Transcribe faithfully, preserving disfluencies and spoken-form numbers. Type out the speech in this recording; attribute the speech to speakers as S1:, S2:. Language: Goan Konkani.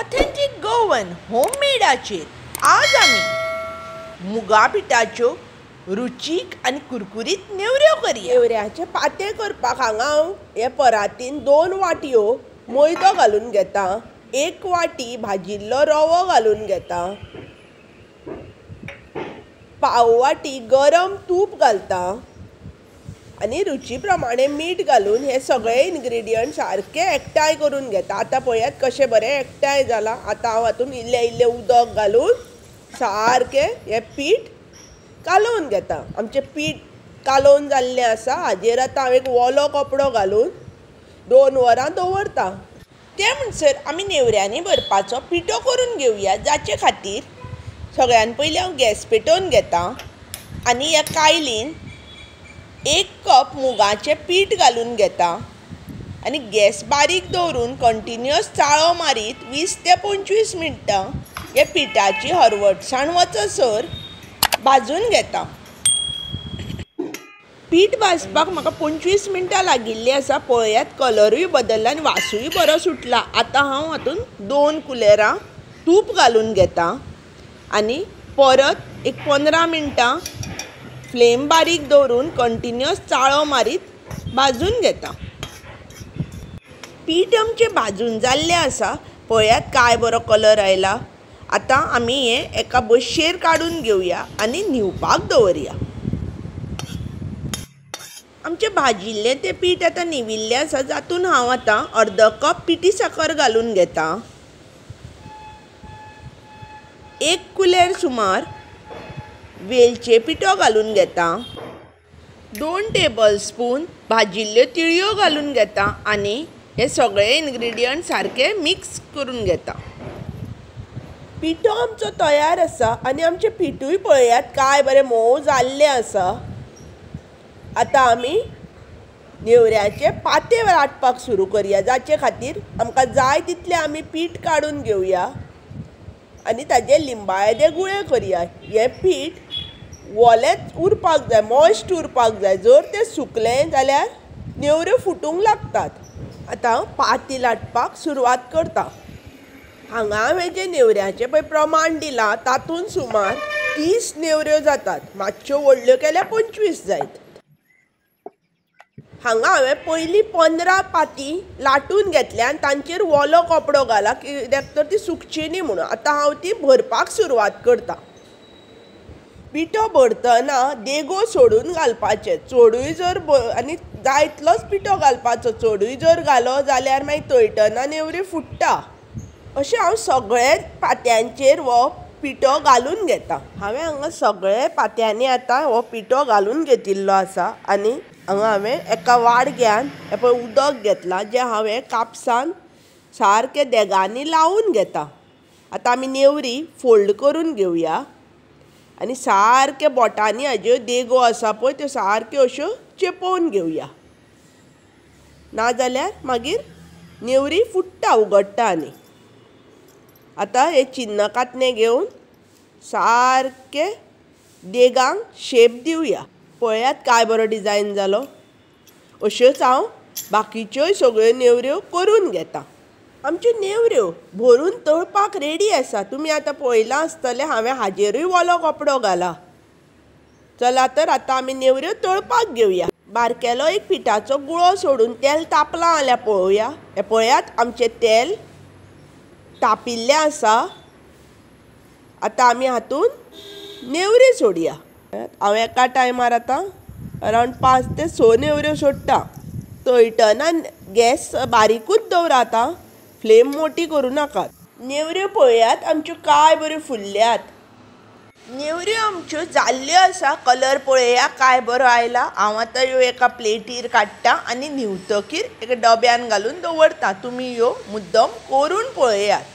S1: ऑथेंटिक गोवन होममेडाचेर आज आमी मुगा पिठाच्यो रुचीक आनी कुरकुरीत नेवऱ्यो करया.
S2: नेवऱ्याचे पाते करपाक हांगा हांव हे परातीन दोन वाटयो मैदो घालून घेता, एक वाटी भाजिल्लो रवो घालून घेता, पाव वाटी गरम तूप घालता आनी रुची प्रमाणे मीठ घालून हे सगळे इन्ग्रिडियंट सारके एकठांय करून घेता. आतां पळयात कशें बरें एकठांय जालां. आतां हांव हातूंत इल्लें इल्लें उदक घालून सारकें हें पीठ कालोवन घेता. आमचें पीठ कालोवन जाल्लें आसा. हाजेर आतां हांव एक ओलो कपडो घालून दोन वरां दवरता.
S1: ते म्हणसर आमी नेवऱ्यांनी भरपाचो पिठो करून घेवया. जाचे खातीर सगळ्यान पयलीं हांव गॅस पेटोवन घेता आनी ह्या कायलीन एक कप मुगाचें पीठ घालून घेता आनी गॅस बारीक दवरून कंटिन्युअस चाळो मारीत वीस ते पंचवीस मिनटां ह्या पिठाची हरवटसाण वचसर भाजून घेता. पीठ भाजपाक म्हाका पंचवीस मिनटां लागिल्लीं आसा. पळयात कलरूय बदल्ला आनी वासूय बरो सुटला. आतां हांव हातूंत दोन कुलेरां तूप घालून घेता आनी परत एक पंदरा मिनटां फ्लेम बारीक दवरून कंटिन्युअस चाळो मारीत भाजून घेता. पीठ आमचें भाजून जाल्लें आसा. पळयात काय बरो कलर आयला. आतां आमी हें एका बशयेर काडून घेवया आनी न्हिवपाक दवरया. आमचें भाजिल्लें तें पीठ आतां न्हिविल्लें आसा. जातून हांव आतां अर्द कप पिठी साकर घालून घेता, एक कुलेर सुमार वेलचे पिठो घालून घेता, दोन टेबल स्पून भाजिल्ल्यो तिळयो घालून घेता आनी हे सगळे इन्ग्रिडियंट सारके मिक्स करून घेता.
S2: पिठो आमचो तयार आसा आनी आमचें पिठूय पळयात काय बरें मोव जाल्लें आसा. आतां आमी नेवऱ्याचे पाते लाटपाक सुरू करया. जाचे खातीर आमकां जाय तितलें आमी पीठ काडून घेवया आनी ताजे लिंबाळे गुळे करया. हें पीठ ओलेंच उरपाक जाय, मॉयस्ट उरपाक जाय. जर तें सुकलें जाल्यार नेवऱ्यो फुटूंक लागतात. आतां हांव पाती लाटपाक सुरवात करता. हांगा हांवें जें नेवऱ्याचें पळय प्रमाण दिलां तातूंत सुमार तीस नेवऱ्यो जातात. मातश्यो व्हडल्यो केल्यार पंचवीस जायत. हांगा हांवें पयलीं पंदरा पाती लाटून घेतल्या आनी तांचेर ओलो कपडो घाला कित्याक तर ती सुकची न्ही म्हणून. आतां हांव ती भरपाक सुरवात करता. पिठो भरतना देगो सोडून घालपाचें, चडूय जर आनी जाय इतलोच पिठो घालपाचो. चडूय जर घालो जाल्यार मागीर तळटना नेवरी फुट्टा. अशें हांव सगळे पात्यांचेर हो पिठो घालून घेता. हांवें हांगा सगळे पात्यांनी आतां हो पिठो घालून घेतिल्लो आसा आनी हांगा हांवें एका वाडग्यान हें पळय उदक घेतलां जें हांवें कापसान सारकें देगांनी लावन घेता. आतां आमी नेवरी फोल्ड करून घेवया आनी सारके बोटांनी हाज्यो देगो आसा पळय त्यो सारक्यो अश्यो चेपोवन घेवया, नाजाल्यार मागीर नेवरी फुट्टा उगडटा. आनी आतां हे चिन्न कातणें घेवन सारके देगांक शेप दिवया. पळयात काय बरो डिजायन जालो. अश्योच हांव बाकीच्योय सगळ्यो नेवऱ्यो करून घेता. आमच्यो नेवऱ्यो भरून तळपाक रेडी आसा. तुमी आतां पळयलां आसतलें हांवें हाजेरूय ओलो कपडो घाला. चला तर आतां आमी नेवऱ्यो तळपाक घेवया. बारकेलो एक पिठाचो गुळो सोडून तेल तापलां जाल्यार पळोवया. हें पळयात आमचें तेल तापिल्लें आसा. आतां आमी हातूंत नेवरी सोडया. हांव एका टायमार आतां अरावंड पांच ते स नेवऱ्यो सोडटा. तळटना गॅस बारीकूच दवरा, आतां फ्लेम मोटी करूं नाकात. नेवऱ्यो पळयात आमच्यो काय बऱ्यो फुल्ल्यात.
S1: नेवऱ्यो आमच्यो जाल्ल्यो आसा. कलर पळया काय बरो आयला. हांव आतां ह्यो एका प्लेटीर काडटा आनी न्हिवतकीर एका डब्यान घालून दवरता. तुमी ह्यो मुद्दम करून पळयात.